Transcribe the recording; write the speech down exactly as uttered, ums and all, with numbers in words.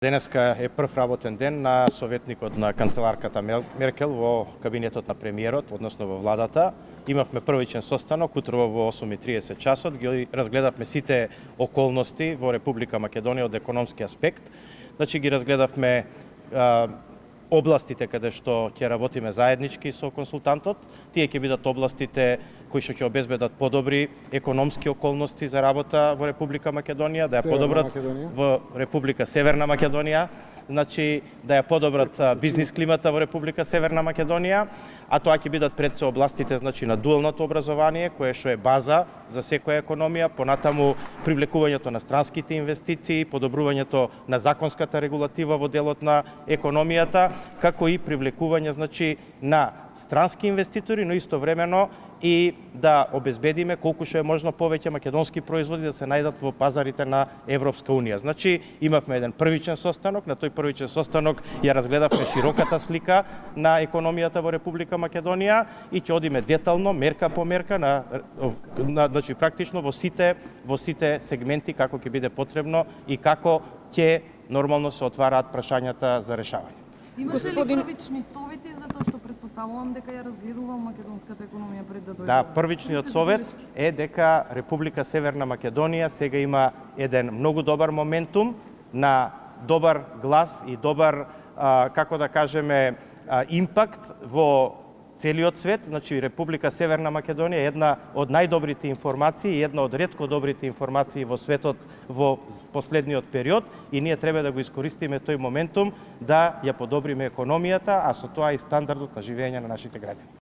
Денеска е прв работен ден на советникот на канцеларката Меркел во кабинетот на премиерот, односно во владата. Имавме првичен состанок утрово во осум и триесет часот, ги разгледавме сите околности во Република Македонија од економски аспект. Значи ги разгледавме а, областите каде што ќе работиме заеднички со консултантот. Тие ќе бидат областите кои што ќе обезбедат подобри економски околности за работа во Република Македонија, да ја подобрат во Република Северна Македонија, значи да ја подобрат бизнис климата во Република Северна Македонија, а тоа ќе бидат пред се областите значи на дуалното образование, кое што е база за секоја економија, понатаму привлекувањето на странските инвестиции, подобрувањето на законската регулатива во делот на економијата, како и привлекување значи на странски инвеститори, но истовремено и да обезбедиме колку што е можно повеќе македонски производи да се најдат во пазарите на Европска унија. Значи имавме еден првичен состанок, на тој првичен состанок ја разгледавме широката слика на економијата во Република Македонија и ќе одиме детално, мерка по мерка на, на значи практично во сите во сите сегменти како ќе биде потребно и како ќе нормално се отвараат прашањата за решавање. Имаше ли првични совети за тоа што предпоставувам дека ја разгледувал македонската економија пред да дојде? Да, првичниот совет е дека Република Северна Македонија сега има еден многу добар моментум на добар глас и добар, а, како да кажеме, а, импакт во целиот свет. Значи Република Северна Македонија е една од најдобрите информации и една од ретко добрите информации во светот во последниот период и ние треба да го искористиме тој моментум да ја подобриме економијата, а со тоа и стандардот на живење на нашите граѓани.